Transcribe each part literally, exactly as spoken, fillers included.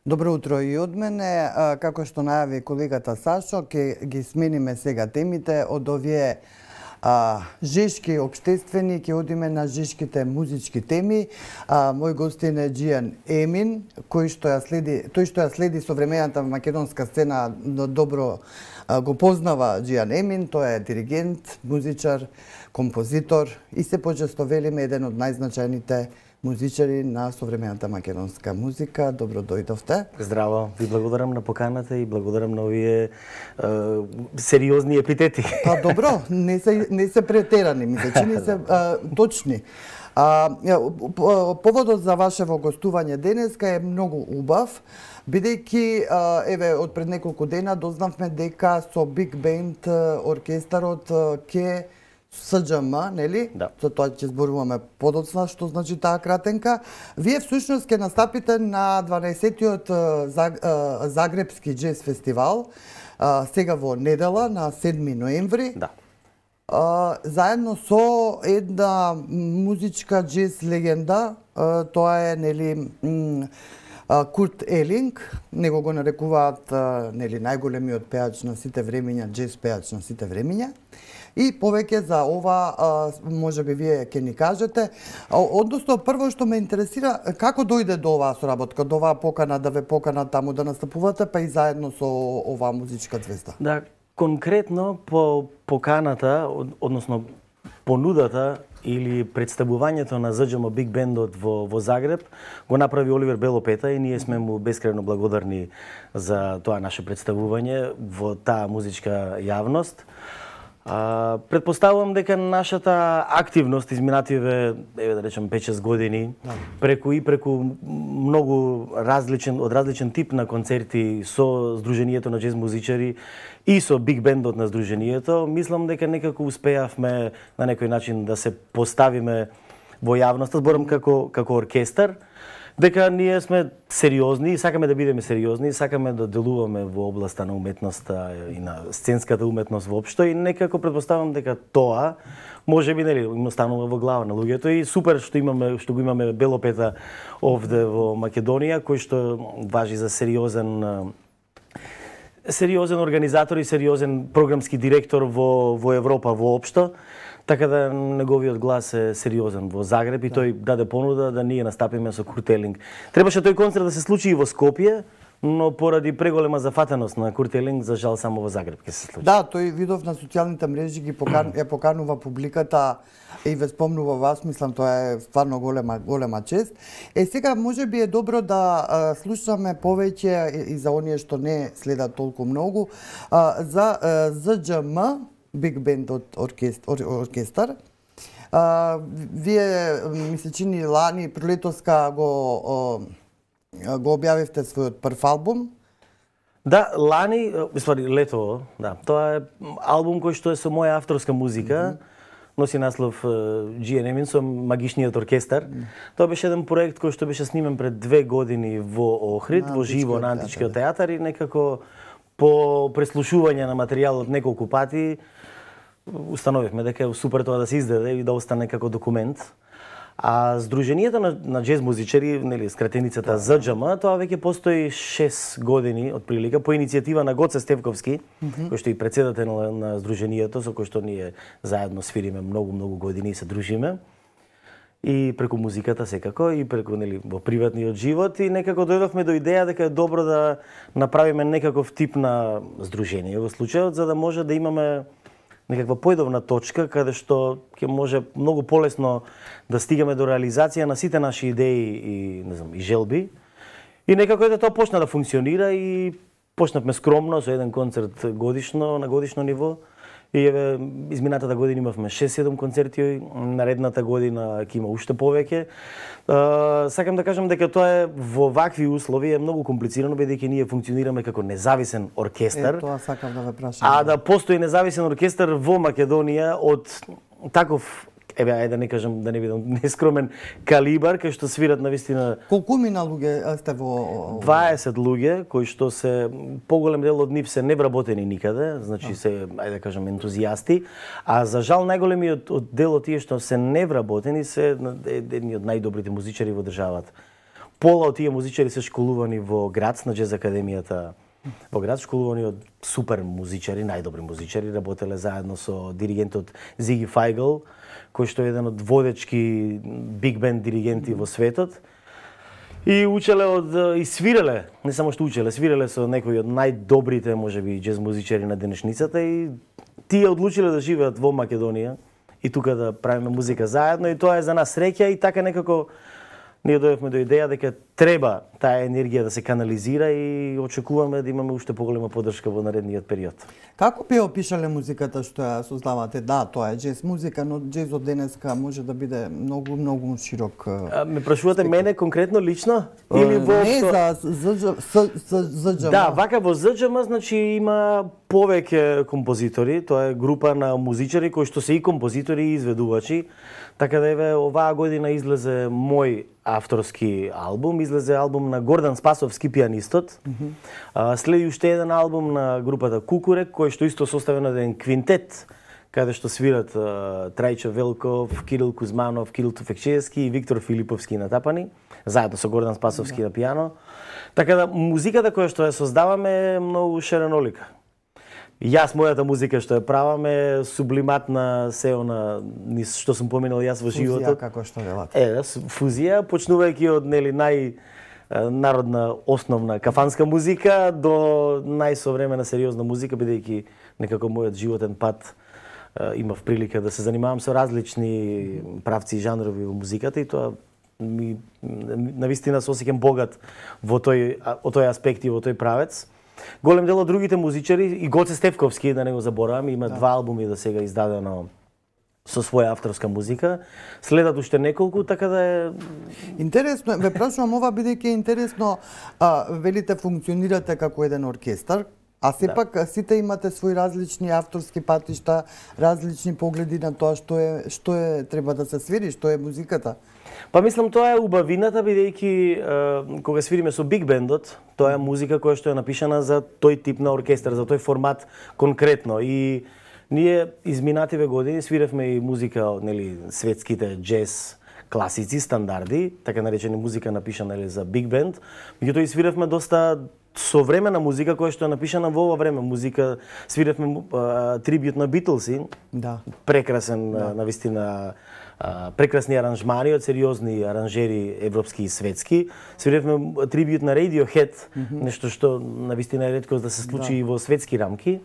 Добро утро и од мене. Како што најави колегата Сашо, ќе ги смениме сега темите од овие а, жешки обштествени, ќе одиме на жешките музички теми. А, мој гостин е Џијан Емин, кој што ја следи, тој што ја следи современата македонска сцена добро а, го познава Џијан Емин. Тој е диригент, музичар, композитор и се почесто велиме еден од најзначајните музичари на современата македонска музика. Добро дојдовте. Здраво, ви благодарам на поканата и благодарам на овие е, сериозни епитети. Па добро, не се не се претерани, ми се чини се а, точни. А, поводот за вашево гостување денеска е многу убав, бидејќи еве од пред неколку дена дознавме дека со Биг Бенд оркестарот ќе С Џ М, нели? Да. За тоа ќе зборуваме подоцна, што значи таа кратенка. Вие всушност ќе настапите на дванаесеттиот Загребски џез фестивал, сега во недела на седми ноември. Да. Заедно со една музичка џез легенда, тоа е нели Курт Елинг, него го нарекуваат нели најголемиот пеач на сите времиња, џез пеач на сите времиња. И повеќе за ова, може би вие ќе ни кажете. Односно, прво што ме интересира, како дојде до оваа соработка, до оваа покана, да ве покана таму да настапувате, па и заедно со оваа музичка звезда? Да, конкретно по поканата, односно понудата или представувањето на З Џ М Биг Бендот во, во Загреб го направи Оливер Белопета и ние сме му бескрено благодарни за тоа наше представување во таа музичка јавност. А, предпоставувам дека нашата активност изминативе, еве да речем пет-шест години, преку и преку многу различен, од различен тип на концерти со Сдруженијето на џез музичари и со Биг Бендот на Сдруженијето, мислам дека некако успеавме на некој начин да се поставиме во јавноста, зборам како, како оркестар, дека ние сме сериозни и сакаме да бидеме сериозни, и сакаме да делуваме во областа на уметноста и на сценската уметност воопшто и некако предпоставам дека тоа може би нели им останува во глава на луѓето и супер што имаме што го имаме Белопета овде во Македонија, кој што важи за сериозен сериозен организатор и сериозен програмски директор во во Европа воопшто. Така да неговиот глас е сериозен во Загреб и тој даде понуда да ние настапиме со Курт Елинг. Требаше тој концерт да се случи и во Скопје, но поради преголема зафатеност на Курт Елинг, за жал само во Загреб ќе се случи. Да, тој видов на социјалните мрежи ги покан, ја поканува публиката и ве спомнува вас, мислам тоа е стварно голема голема чест. Е сега може би е добро да а, слушаме повеќе и за оние што не следат толку многу а, за а, З Џ М Биг Бенд од оркестар. оркестар. А, вие ми се чини лани пролетоска го го објавивте својот прв албум. Да, лани, мислам лето, да. Тоа е албум кој што е со моја авторска музика. Mm -hmm. Носи наслов Џијан Емин со Магичниот оркестар. Mm -hmm. Тоа беше еден проект кој што беше снимен пред две години во Охрид, на во живо на Античкиот театар и некако по преслушување на материјалот неколку пати установивме дека е супер тоа да се издаде и да остане како документ. А Сдруженијето на, на џез музичари, нели, скратеницата З Џ М, тоа веќе постои шест години од прилика по иницијатива на Гоце Стевковски, mm -hmm. кој што и председател на, на Сдруженијето, со кој што ние заедно свириме многу многу години и се дружиме. И преку музиката секако и преку нели во приватниот живот и некако дојдовме до идеја дека е добро да направиме некаков тип на здружение во случајот за да може да имаме некаква појдовна точка каде што ќе може многу полесно да стигаме до реализација на сите наши идеи и не знам и желби. И некако ете тоа почна да функционира и почнавме скромно со еден концерт годишно на годишно ниво. И еве изминатата година имавме шест-седум концерти, наредната година ќе има уште повеќе. Uh, сакам да кажам дека тоа е во вакви услови е многу комплицирано бидејќи ние функционираме како независен оркестар. Е, тоа сакам да ве прашам. А да постои независен оркестар во Македонија од таков еве ајде да не кажам да не бидам нескромен калибар кај што свират навистина. Колку мина луѓе сте во дваесет луѓе кои што се поголем дел од нив се невработени никаде, значи се ајде да кажам ентузијасти, а за жал најголемиот од дел од тие што се невработени се едни од најдобрите музичари во државата. пола од тие музичари се школувани во Грац, на Джез академијата во Грац, школувани од супер музичари, најдобри музичари, работеле заедно со диригентот Зиги Фајгл, кој што е еден од водечки биг бенд диригенти во светот. И учеле од и свиреле, не само што учеле, свиреле со некои од најдобрите, можеби, џез музичари на денешницата и тие одлучиле да живеат во Македонија и тука да правиме музика заедно и тоа е за нас среќа и така некако ние дојдовме до идеја дека треба таа енергија да се канализира и очекуваме да имаме уште поголема поддршка во наредниот период. Како би опишале музиката што ја создавате? Да, тоа е џез музика, но џезот денеска може да биде многу многу широк. А, ме прашувате мене конкретно лично или во воопшто? Не, за ЗДЖМ. Да, вака во ЗДЖМ значи има повеќе композитори, тоа е група на музичари кои што се и композитори и изведувачи. Така да еве оваа година излезе мој авторски албум, излезе албум на Гордан Спасовски, пианистот. Mm -hmm. Следи уште еден албум на групата Кукурек, кој што исто составен еден квинтет, каде што свират Трајчо Велков, Кирил Кузманов, Кирил Туфекчевски и Виктор Филиповски на тапани, заедно со Гордан Спасовски yeah. на пијано. Така да музиката која што ја создаваме е многу ширенолика. Јас мојата музика што ја правам е сублиматна се она низ што сум поминал јас во животот. Фузија како што велате. Е, фузија почнувајќи од нели нај народна основна кафанска музика до најсовремена сериозна музика, бидејќи некако мојот животен пат имав прилика да се занимавам со различни правци и жанрови во музиката и тоа ми навистина се осеќам богат во тој во тој аспект и во тој правец. Голем дел од другите музичари и Гоце Стефковски, да не го заборавам, има да. два албуми до сега издадено со своја авторска музика. Следат уште неколку, така да е... Интересно е, ве прашувам ова бидејќи е интересно, а, велите функционирате како еден оркестар, а сепак да. сите имате своји различни авторски патишта, различни погледи на тоа што е што е треба да се свири, што е музиката. Па мислам тоа е убавината бидејќи кога свириме со биг бендот, тоа е музика која што е напишана за тој тип на оркестар, за тој формат конкретно и ние изминативе години свиревме и музика од нели светските џез класици, стандарди, така наречени музика напишана нели за биг бенд, меѓутоа и свиревме доста современа музика која што е напишана во ова време, музика свиревме трибют на Битлси. Да. Прекрасен да. навистина прекрасни аранжмани од сериозни аранжери европски и светски. Свиревме трибют на Radiohead, mm -hmm. нешто што навистина е ретко да се случи да. и во светски рамки.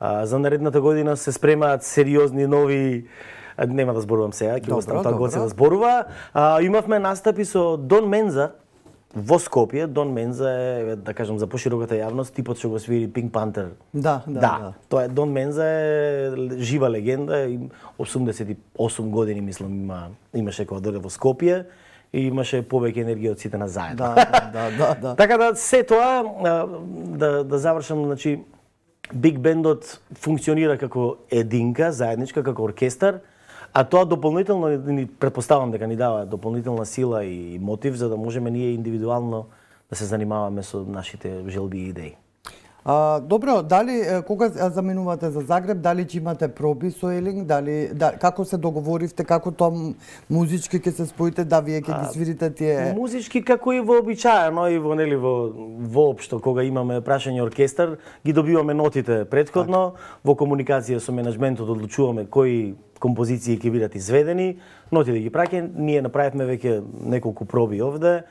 А, за наредната година се спремаат сериозни нови, нема да зборувам сега, ќе оставам тоа Гоце да зборува. А, имавме настапи со Дон Менза во Скопје. Дон Менза е, да кажам, за пошироката јавност, типот што го свири Pink Panther. Да, да, да. да. Тоа е Дон Менза е жива легенда, осумдесет и осум години мислам има имаше кога дојде во Скопје и имаше повеќе енергија од сите на заедно. Да, да, да, да. Така да се тоа да да завршам, значи биг бендот функционира како единка, заедничка, како оркестар, а тоа дополнително ни претпоставам дека ни дава дополнителна сила и мотив за да можеме ние индивидуално да се занимаваме со нашите желби и идеи. А, добро, дали кога заминувате за Загреб, дали ќе имате проби со Елинг, дали да, како се договоривте, како тоа музички ќе се споите, да вие ќе ги свирите тие? Музички како и вообичаено и во нели во воопшто кога имаме прашање оркестар, ги добиваме нотите претходно, так. Во комуникација со менеджментот одлучуваме кои композиции ќе бидат изведени, нотите ги праќаат, ние направивме веќе неколку проби овде.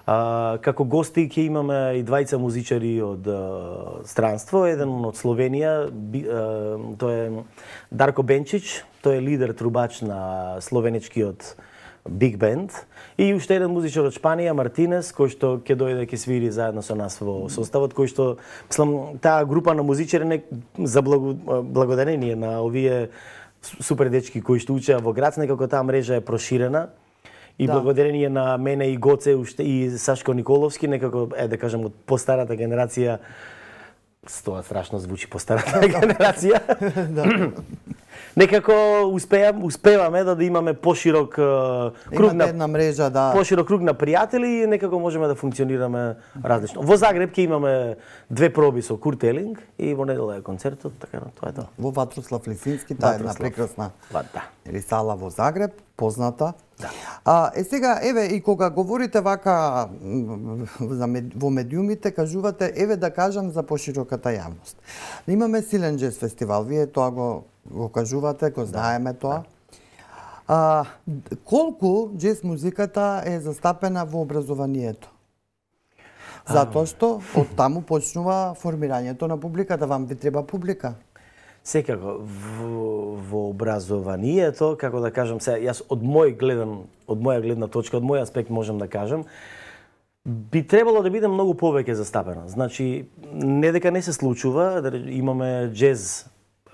А, како гости ќе имаме и двајца музичари од а, странство, еден од Словенија, би, а, тој е Дарко Бенчич, тој е лидер трубач на словеничкиот биг бенд, и уште еден музичар од Шпанија, Мартинес, кој што ќе дојде ќе свири заедно со нас во составот, кој што мислам таа група на музичари не, за благо, благодарение на овие супер дечки кои што учеа во Грац, некако таа мрежа е проширена. И да. Благодарение на мене и Гоце уште и Сашко Николовски, некако е да кажам од постарата генерација, тоа страшно звучи постарата генерација. Да. Некако успеам, успеваме да, да имаме поширок круг на една мрежа, да. Поширок круг на пријатели и некако можеме да функционираме различно. Во Загреб ќе имаме две проби со Курт Елинг и во недела е концертот, така тоа е тоа. Во Ватрослав Лисински, таа е една прекрасна да. Или сала во Загреб. позната. Да. А, е сега, еве, и кога говорите вака за мед, во медиумите, кажувате, еве да кажам за пошироката јавност. Имаме силен джез фестивал, вие тоа го, го кажувате, го знаеме тоа. А, колку джез музиката е застапена во образованието? Затоа што од таму почнува формирањето на публиката, вам ви треба публика. Секако, во, во образованието, како да кажам се, јас од мој гледан, од моја гледна точка, од мој аспект можам да кажам, би требало да биде многу повеќе застапена. Значи, не дека не се случува, да имаме джез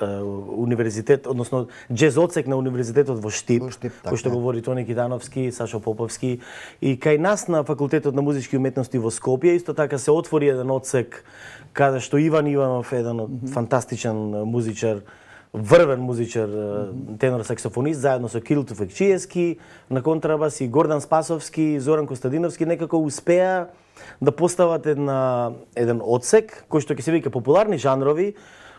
универзитет, односно джез одсек на универзитетот во Штип, во Штип кој што говори Тони Кидановски, Сашо Поповски, и кај нас на факултетот на музички уметности во Скопје исто така се отвори еден одсек каде што Иван Иванов, еден mm -hmm. фантастичен музичар, врвен музичар, mm -hmm. тенор саксофонист, заедно со Кирил Туфекчиевски на контрабас и Гордан Спасовски, Зоран Костадиновски, некако успеа да постават една, еден одсек кој што ќе се вика популарни жанрови,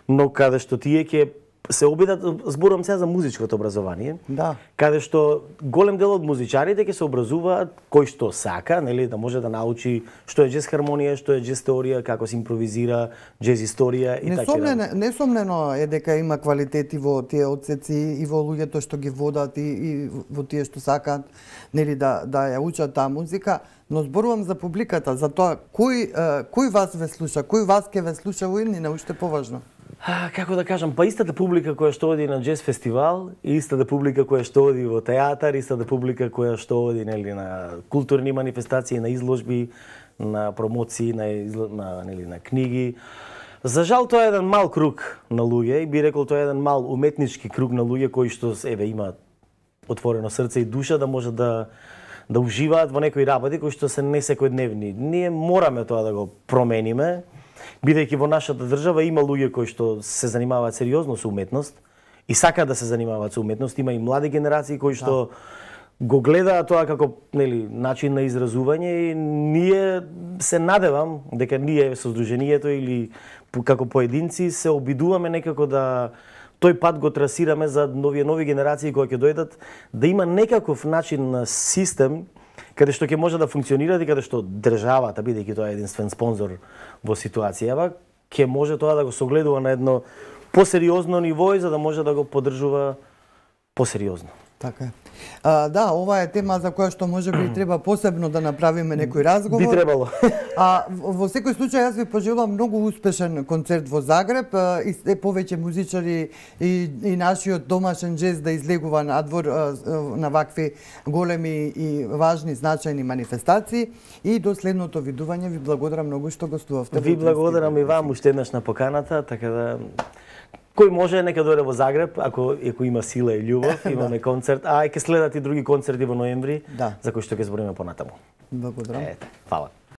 но каде што тие ќе се обидат, зборувам сега за музичкото образование, да. Каде што голем дел од музичарите ќе се образуваат кој што сака, нели, да може да научи што е джез хармонија, што е джез теорија, како се импровизира, джез историја и така. Несомнено, несомнено е дека има квалитети во тие одсеци и во луѓето што ги водат и, и во тие што сакаат, нели, да да ја учат таа музика, но зборувам за публиката, за тоа кој кој вас ве слуша, кој вас ќе ве слуша во иднина, уште поважно. А, како да кажам, па истата публика која што оди на джез фестивал, истата публика која што оди во театар, истата публика која што оди, нели, на културни манифестации, на изложби, на промоции, на, изло... на, нели, на книги. За жал тоа е еден мал круг на луѓе и би рекол тоа е еден мал уметнички круг на луѓе кои што еве имаат отворено срце и душа да можат да да уживаат во некои работи кои што се не секојдневни. Ние мораме тоа да го промениме. Бидејќи во нашата држава има луѓе кои што се занимаваат сериозно со уметност и сакаат да се занимаваат со уметност, има и млади генерации кои што да. го гледаат тоа како, нели, начин на изразување и ние се надевам дека ние со здруженијето или како поединци се обидуваме некако да тој пат го трасираме за нови нови генерации кои ќе дојдат, да има некаков начин на систем каде што ќе може да функционира и каде што државата, бидејќи тоа е единствен спонзор во ситуацијава, ќе може тоа да го согледува на едно посериозно ниво и за да може да го поддржува посериозно. Така е. А, да, ова е тема за која што може би треба посебно да направиме некој разговор. Би требало. А во секој случај јас ви пожелувам многу успешен концерт во Загреб и се повеќе музичари и, и нашиот домашен джез да излегува надвор на вакви големи и важни значајни манифестации и до следното видување. Ви благодарам многу што гостувавте. Ви благодарам и вам уште еднаш на поканата, така да кој може нека дојде во Загреб, ако ако има сила и љубов, имаме концерт, а ќе следат и други концерти во ноември, да. За кои што ќе збориме понатаму. Благодарам. Ете, фала.